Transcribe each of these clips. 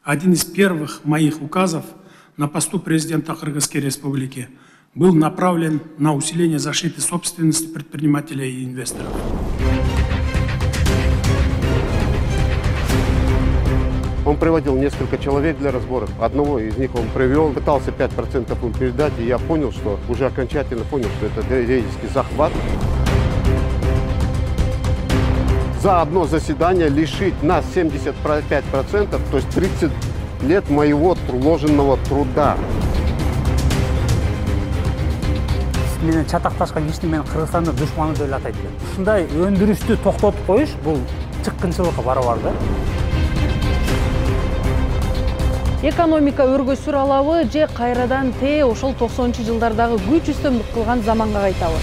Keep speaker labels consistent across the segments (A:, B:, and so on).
A: Один из первых моих указов на посту президента Кыргызской Республики был направлен на усиление защиты собственности предпринимателей и инвесторов.
B: Он приводил несколько человек для разборов. Одного из них он привел, пытался 5% им передать, и я понял, что уже окончательно понял, что это юридический захват. За одно заседание лишить нас 75%, то есть 30 лет моего вложенного труда.
C: Менен чатакташкан кишини мен Кыргызстандын душманы деп атайт элем. Ушундай өндүрүштү токтотуп коюш бул чыккынчылыкка барабар да.
D: Экономика өргөсүр алабы же кайрадан ошол 90-жылдардагы күч үстөмдүк кылган заманга кайтабы?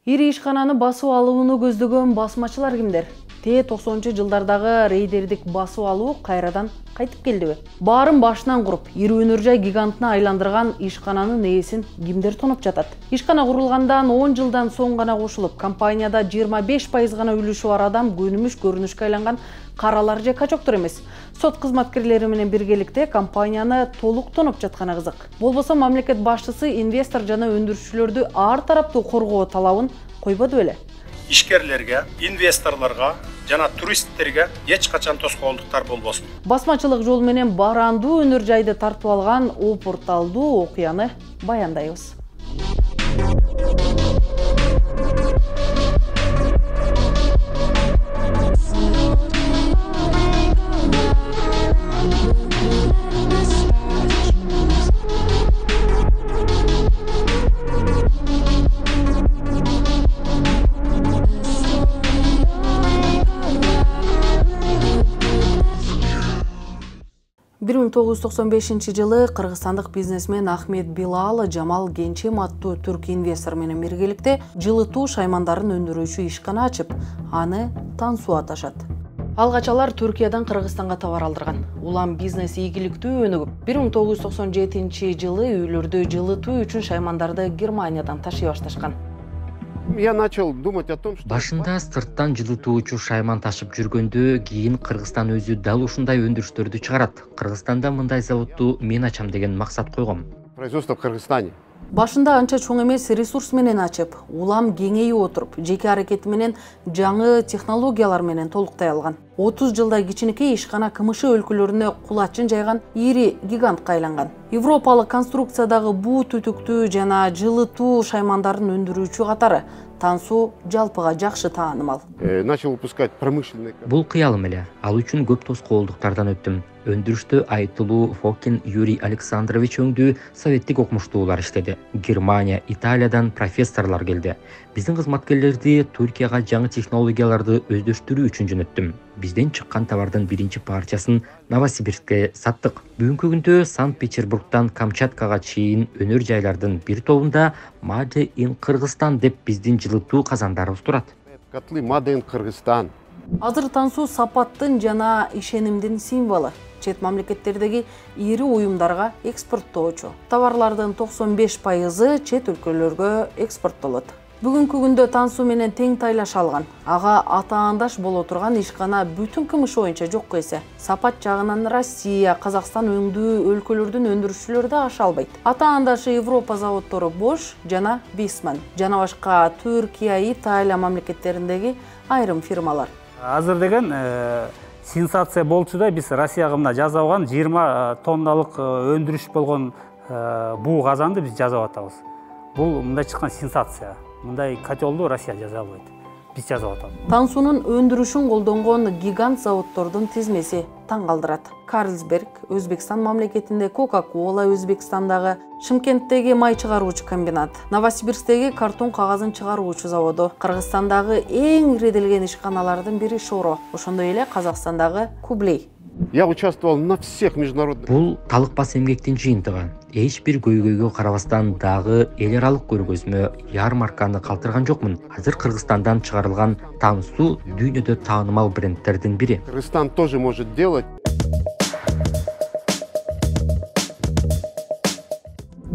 D: Ири ишкананы басып алууну көздөгөн басмачылар кимдер? 90-жылдардагы рейдердик басып алуу кайрадан кайтып келдиби? Баарын башынан куруп, ири өнөр жай гигантына айландырган ишкананын ээсин кимдер тоноп жатат? Ишкана курулгандан 10 жылдан соң гана кошулуп, компанияда 25% гана үлүшү бар адам көрүнүшкө айланган каралар же качоктор эмес. Сот кызматкерлери менен биргеликте компанияны толук тоноп жатканы кызык. Болбосо мамлекет башчысы инвестор жана өндүрүүчүлөрдү ар тараптуу коргоо талабын койбоду беле?
A: Ишкерлерге, инвесторлорго жана туристтерге эч качан тоскоолдуктар болбосун.
D: Басмачылык жол менен барандуу өнөр жайды тартып алган опурталдуу окуяны баяндайбыз. Бир 1995 жылы кыргызстандык бизнесмен Ахмет Билал Жамал Генчем аттуу түрк инвестор менен биргеликте жылытуу шаймандарын өндүрүүчү ишкана ачып, аны Тансу аташат. Алгач алар Түркиядан Кыргызстанга товар алдырган. Улам бизнес ийгиликтүү өнүгүп, 1997 жылы үйлөрдү жылытуу үчүн шаймандарды Германиядан ташый башташкан.
B: Я начал думать о том, что...
E: Башында сырттан жылытуучу шайман ташып жүргөндө, кийин Кыргызстан өзү дал ушундай өндүрүштөрдү чыгарат. Кыргызстанда мындай заводду мен ачам деген максат койгом.
B: Производство в Кыргызстане.
D: Башында анча чоң эмес ресурс менен ачып, улам кеңейип отуруп, жеке аракети менен жаңы технологиялар менен толуктай алган. 30 жылдай кичинекей ишкана КМШ өлкөлөрүнө кулачын жайган ири гигантка айланган. Европалык конструкциядагы буу түтүктүү жана жылытуу шаймандарын өндүрүүчү катары Тансу жалпыга жакшы таанымал.
B: Начал выпускать промышленный.
E: Бул кыялым эле. Ал үчүн көп тоскоолдуктардан өттүм. Өндүрүштө айтылуу Фокин Юрий Александрович өңдүү советтик окумуштуулар иштеди. Германия, Италиядан профессорлор келди. Биздин кызматкерлерди Түркияга жаңы технологияларды өздөштүрүү үчүн жөнөттүм. Бизден чыккан товардын биринчи парчасын Новосибирскке саттык. Бүгүнкү күндө Санкт-Петербургдан Камчаткага чейин өнөр жайлардын бир тобунда Made in Кыргызстан деп биздин жылытуу казандарыбыз турат.
B: Котлы Made in Кыргызстан.
D: Азыр Тансу сапаттын жана ишенимдин символу. Чет мамлекеттердеги ири уюмдарга экспорттоочу. Товарлардын 95% чет өлкөлөргө экспорттолот. Бүгүнкү күндө Тансу менен тең тайлаш алган. Ага атаандаш боло турган ишкана бүтүн КМШ боюнча жок эсе. Сапат жагынан Россия, Казакстан өңдүү өлкөлөрдүн өндүрүүчүлөрү да аша албайт. Атаандашы Европа заводдору Bosch жана Viessmann, жана башка Түркия, Италия мамлекеттериндеги айрым фирмалар.
C: Азыр деген сенсация болчу да, биз Россияга мына жазып алган 20 тонналык өндүрүш болгон буу казанды биз жазып атабыз. Бул мындай чыккан сенсация. Мындай котелду Россия жаза албайт. Биз жазып атабыз.
D: Тансунун өндүрүшүн колдонгон гигант заводдордун тизмеси таң калтырат. Карлсберг Өзбекстан мамлекетинде, Coca-Cola Өзбекстандагы, Шымкенттеги май чыгаруучу комбинат, Новосибирсктеги картон кагазын чыгаруучу заводу, Кыргызстандагы эң ириделген ишканалардын бири Шоро, ошондой эле Казакстандагы Кублей.
B: Я участвовал на всех международных.
E: Бул талыкпас эмгектин жыйынтыгы. Эч бир көйгөйгө карабастан дагы эл аралык көргөзмө, ярмарканы калтырган жокмун. Азыр Кыргызстандан чыгарылган Тансу дүйнөдө таанымал брендтердин бири.
B: Кыргызстан тоже может делать.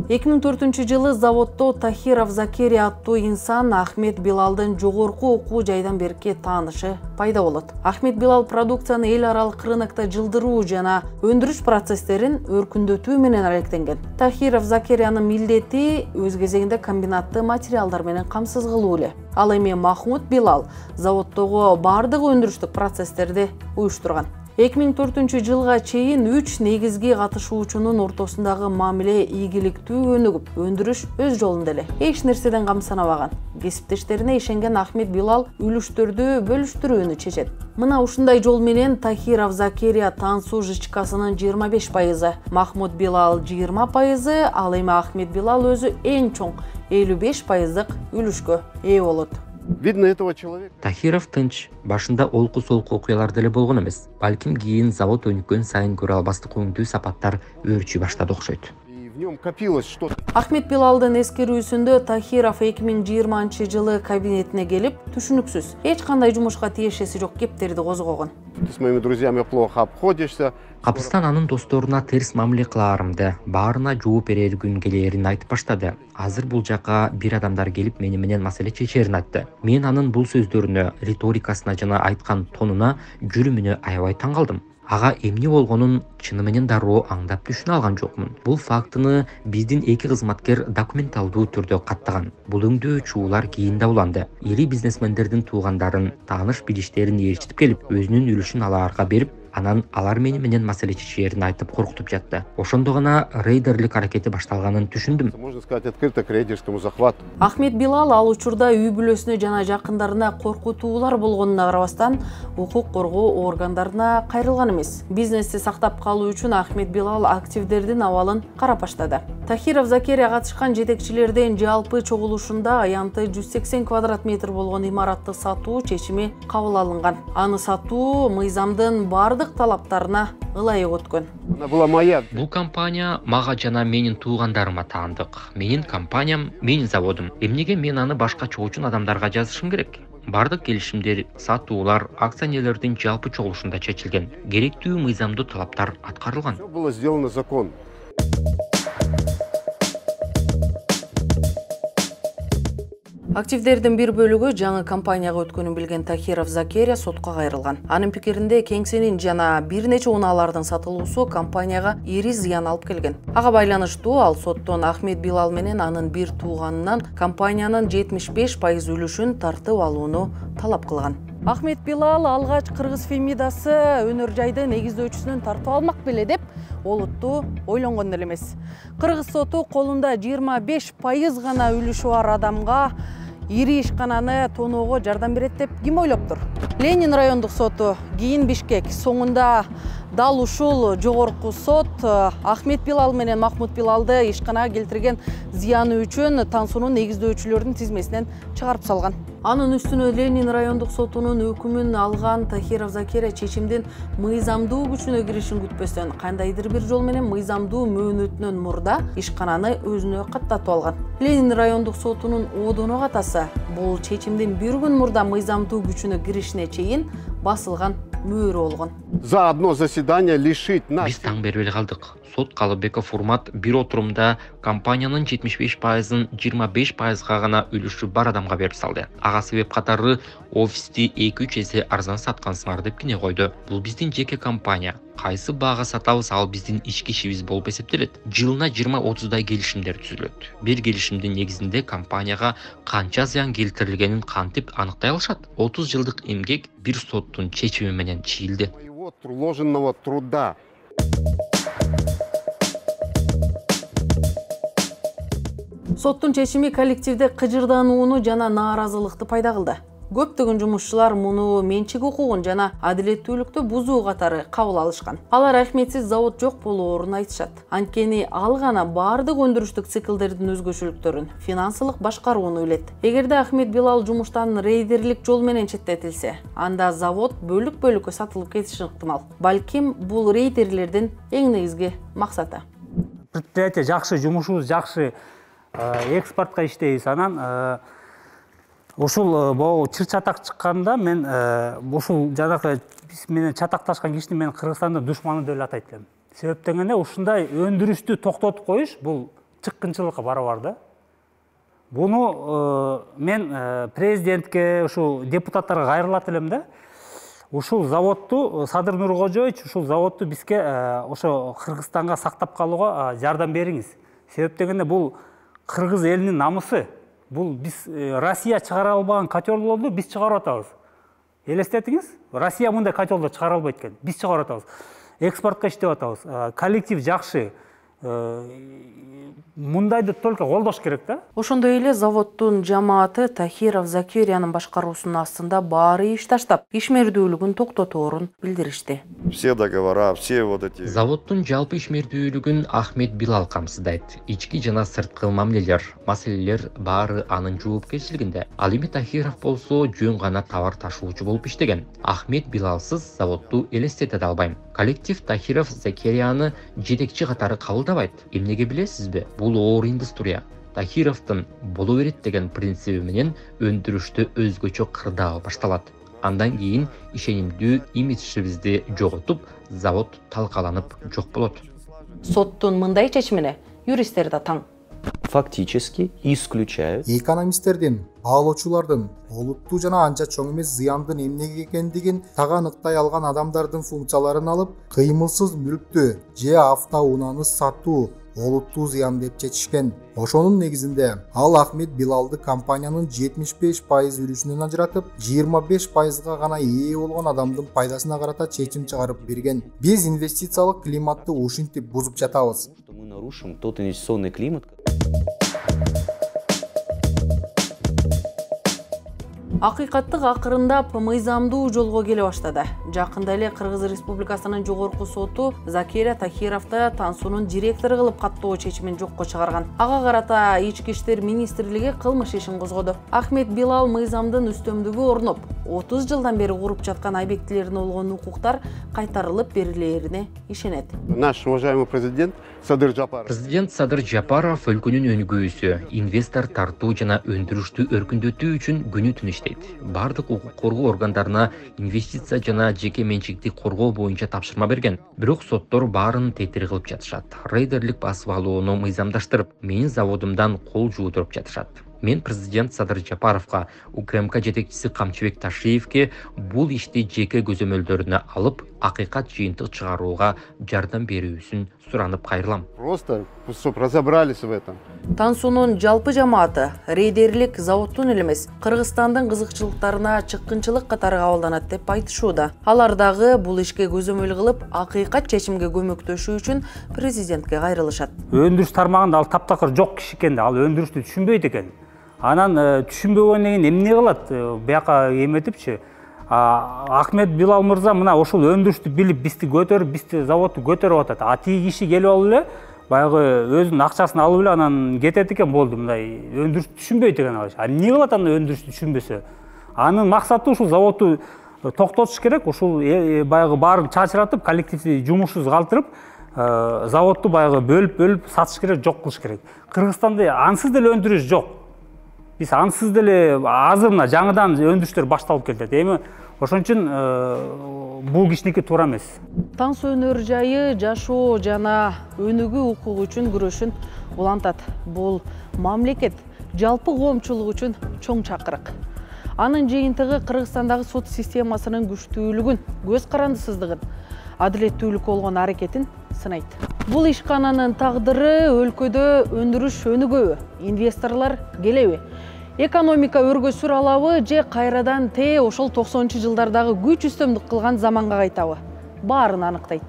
D: 2004-жылы заводдо Тахиров Закерия аттуу инсан Ахмед Билалдын жогорку окуу жайдан берки таанышы пайда болот. Ахмед Билал продукцияны эл аралык рынокто жылдыруу жана өндүрүш процесстерин өркүндөтүү менен алектенген. Тахиров Закериянын милдети өз кезегинде комбинатты материалдар менен камсыз кылуу эле. Ал эми Махмуд Билал заводдогу бардык өндүрүштүк процесстерди уюштурган. 2004-жылга чейин 3 негизги катышуучунун ортосундагы мамиле ийгиликтүү өнүгүп, өндүрүш өз жолунда эле. Эч нерседен камсанабаган. Кесиптештерине ишенген Ахмед Билал үлүштөрдү бөлүштүрүүнү чечет. Мына ушундай жол менен Тахиров Закерия Тансу жычкасынын 25%, Махмуд Билал 20%, ал эми Ахмед Билал өзү эң чоң 55%дык үлүшкө ээ болот.
B: Видно этого человека.
E: Тахиров тынч, башында олку-солку окуялар деле болгон эмес. Балким кийин завод өнүккөн сайын көрө албастык өңдүү сапаттар өөрчүй баштады окшойт.
B: И в нем копилось что-то.
D: Ахмед Билалдын эскерүүсүндө Тахиров 2020-жылы кабинетине келип, түшүнүксүз, эч кандай жумушка тиешеси жок кептерди козгогон.
B: Ты с моими друзьями плохо обходишься.
E: Капыстан анын досторуна терс мамиле кылаарымды, баарына жооп берер күн келээрин айтып баштады. Азыр бул жака бир адамдар келип мени менен маселе чечерин айтты. Мен анын бул сөздөрүнө, риторикасына жана айткан тонуна, жүрүмүнө аябай таң калдым. Ага эмне болгонун чыны менен дароо аңдап түшүнө алган жокмун. Бул фактыны биздин эки кызматкер документалдуу түрдө каттаган. Бул өңдөө чуулар кийин да уланды. Ири бизнесмендердин туугандарын, тааныш билиштерин ээрчитип келип, өзүнүн үлүшүн аларга берип, анан алар мени менен маселе чечээрин айтып коркутуп жатты. Ошондо гана рейдерлик аракети башталганын түшүндүм.
B: Можно сказать открыто к рейдерскому захвату.
D: Ахмед Билал ал учурда үй бүлөсүнө жана жакындарына коркутуулар болгонуна карабастан, укук коргоо органдарына кайрылган эмес. Бизнести сактап калуу үчүн Ахмед Билал активдердин абалын карап баштады. Тахиров Закерия катышкан жетекчилердин жалпы чогулушунда аянты 180 квадрат метр болгон имаратты сатуу чечими кабыл алынган. Аны сатуу мыйзамдын бардык талаптарына ылайык өткөн.
B: Она была моя.
E: Бул компания мага жана менин туугандарыма таандык. Менин компаниям, менин заводум. Эмнеге мен аны башка чоочун адамдарга жазышым керек? Бардык келишимдер, сатуулар акционерлердин жалпы чогулушунда чечилген. Керектүү мыйзамдуу талаптар аткарылган.
B: Все было сделано законно.
D: Активдердин бир бөлүгү жаңы компанияга өткөнүн билген Тахиров Закерия сотко кайрылган. Анын пикиринде кеңсенин жана бир нече унаалардын сатылуусу компанияга ири зыян алып келген. Ага байланыштуу ал соттон Ахмед Билал менен анын бир тууганынан компаниянын 75% үлүшүн тартып алууну талап кылган. Ахмед Билал алгач Кыргыз Фемидасы өнөр жайды негиздөөчүсүнөн тартып алмак беле деп олутту ойлонгон деле эмес. Кыргыз соту колунда 25% гана үлүшү бар адамга ири ишкананы тоноого жардам берет деп ким ойлоптур? Ленин райондук соту, кийин Бишкек, соңунда дал ушул жогорку сот Ахмед Билал менен Махмуд Билалды ишканага келтирген зыяны үчүн Тансунун негиздөөчүлөрдүн тизмесинен чыгарып салган. Анын үстүнө Ленин райондук сотунун өкүмүн алган Тахиров Закерия чечимдин мыйзамдуу күчүнө киришин күтпөстөн кандайдыр бир жол менен мыйзамдуу мөөнөтүнөн мурда ишкананы өзүнө каттатып алган. Ленин райондук сотунун одоно катасы бул чечимдин бир күн мурда мыйзамдуу күчүнө киришине чейин басылган мөөрү болгон.
B: За одно заседание лишить нас.
E: Биз таң бербей калдык. Сот Калыбеков Урмат бир отурумда компаниянын 75%-ын 25%га гана үлүшү бар адамга берип салды. Ага себеп катары офисти 2-3 эсе арзан саткансыңар деп кине койду. Бул биздин жеке компания. Кайсы баага сатабыз, ал биздин ички ишибиз болуп эсептелет. Жылына 20-30дай келишимдер түзүлөт. Бир келишимдин негизинде компанияга канча зыян келтирилгенин кантип аныктай алышат. 30 жылдык эмгек бир соттун чечими менен чийилди.
B: Моего вложенного труда.
D: Соттун чечими коллективде кыжырданууну жана нааразылыкты пайда кылды. Көптөгөн жумушчулар муну менчик укугун жана адилеттүүлүктү бузуу катары кабыл алышкан. Алар Ахмедсиз завод жок болоорун айтышат. Анткени ал гана бардык өндүрүштүк циклдердин өзгөчөлүктөрүн, финансылык башкарууну билет. Эгерде Ахмед Билал жумуштан рейдерлик жол менен четтетилсе, анда завод бөлүк-бөлүккө сатылып кетиши ыктымал. Балким бул рейдерлердин эң негизги максаты.
C: Предприятие жакшы, жумушубуз жакшы, экспортко иштейбиз. Анан ушул могу чыр чатак чыкканда мен ушул жанакы биз менен чатакташкан кишини мен Кыргызстандын душманы деп атайт элем. Себеп дегенде ушундай өндүрүштү токтотуп коюш бул чыккынчылыкка барабар да. Буну мен президентке, ушул депутаттарга кайрылат элем да. Ушул заводду Садыр Нуркожоевич, ушул заводду бизге ошо Кыргызстанга сактап калууга жардам бериңиз. Себеп дегенде бул кыргыз элинин намысы. Бул биз Россия чыгара албаган котелдорду биз чыгарып атабыз. Элестетиңиз? Россия мындай котелдор чыгара албайт экен. Биз чыгарып атабыз. Экспортко иштеп атабыз. Коллектив жакшы. Мындайды только колдош керек да.
D: Ошондой эле заводдун жамааты Тахиров Закириянын башкаруусунун астында баары иш таштап, ишмердүүлүгүн токтоторун билдиришти.
F: Все договора, все вот эти.
E: Заводдун жалпы ишмердүүлүгүн Ахмет Билал камсыздайт. Ички жана сырткы мамилелер, маселелер баары анын жоопкерчилигинде. Ал эми Тахиров болсо жөн гана товар ташуучу болуп иштеген. Ахмет Билалсыз заводду элестете да албайм. Коллектив Тахиров Закирияны жетекчи катары кабылдабайт. Эмнеге билесизби? Бул оор индустрия. Тахировдун боло берет деген принциби менен өндүрүштү өзгөчө кырдаал башталат. Андан кийин ишенимдүү имиджибизди жоготуп, завод талкаланып жок болот.
D: Соттун мындай чечимине юристтер да таң.
G: Фактически исключают.
H: Экономисттердин, баалоочулардын олуттуу жана анча чоң эмес зыяндын эмнеге экендигин так аныктай алган адамдардын функцияларын алып, кыймылсыз мүлктү же автоунааны сатуу олуттуу зыян деп чечишкен. Ошонун негизинде ал Ахмет Билалды компаниянын 75% үлүшүнөн ажыратып, 25%га гана ээ болгон адамдын пайдасына карата чечим чыгарып берген. Биз инвестициялык климатты ушинтип бузуп жатабыз.
G: Мы нарушим тот инвестиционный климат.
D: Акыйкаттык акырындап мыйзамдуу жолго келе баштады. Жакында эле Кыргыз Республикасынын жогорку соту Закирия Тахировду Тансунун директору кылып каттоо чечимин жокко чыгарган. Ага карата Ички иштер министрлиги кылмыш ишин козгоду. Ахмет Билал мыйзамдын үстөмдүгү орноп, 30 жылдан бери куруп жаткан объектилерине болгон укуктар кайтарылып берилерине ишенет.
B: Наш уважаемый президент Садыр Джапаров.
E: Президент Садыр Джапаров өлкөнүн өнүгүүсү, инвестор тартуу жана өндүрүштү өркүндөтүү үчүн күнү түн иштейт. Бардык укук коргоо органдарына инвестиция жана жеке менчикти коргоо боюнча тапшырма берген. Бирок соттор баарын тетир кылып жатышат. Рейдерлик басып алууну мыйзамдаштырып, менин заводумдан кол жуудуруп жатышат. Мен президент Садыр Джапаровго, УКМК жетекчиси Камчыбек Ташиевке бул ишти жеке көзөмөлдөрүнө алып, акыйкат жыйынтык чыгарууга жардам берүүсүн суранып кайрылам.
B: Просто, чтобы разобрались в этом.
D: Тансунун жалпы жамааты рейдерлик заводдун эле эмес, Кыргызстандын кызыкчылыктарына чыккынчылык катары кабылданат деп айтышууда. Алар дагы бул ишке көзөмөл кылып, акыйкат чечимге көмөктөшүү үчүн президентке кайрылышат.
C: Өндүрүш тармагында ал таптакыр жок киши экен, ал өндүрүштү түшүнбөйт экен. Анан түшүнбөгөндөн кийин эмне кылат? Бияка эметипчи. Ахмет Билал мырза мына ошол өндүрүштү билип, бизди көтөрүп, бизди заводду көтөрүп атат. А тиги киши келип алып эле баягы өзүнүн акчасын алып эле анан кетет экен, болду. Мындай өндүрүштү түшүнбөйт экен ал. Эмне кылат анда өндүрүштү түшүнбөсө? Анын максаты ушул заводду токтотуш керек, ушул баягы баарын чачыратып, коллективди жумушсуз калтырып, заводду баягы бөлүп сатыш керек, жок кылыш керек. Кыргызстанда ансыз деле өндүрүш жок. Биз ансыз деле азыр мына жаңыдан өндүрүштөр башталып келет. Эми ошон үчүн бул кишиники туура эмес.
D: Тансу өнөр жайы жашоо жана өнүгүү укугу үчүн күрөшүн улантат. Бул мамлекет жалпы коомчулук үчүн чоң чакырык. Анын жыйынтыгы Кыргызстандагы сот системасынын күчтүүлүгүн, көз карандысыздыгын, адилеттүүлүккө болгон аракетин сынайт. Бул ишкананын тагдыры өлкөдө өндүрүш өнүгөбү, инвесторлор келеби, экономика өргөсүр алабы же кайрадан ошол 90-жылдардагы күч үстөмдүк кылган заманга кайтабы? Баарын аныктайт.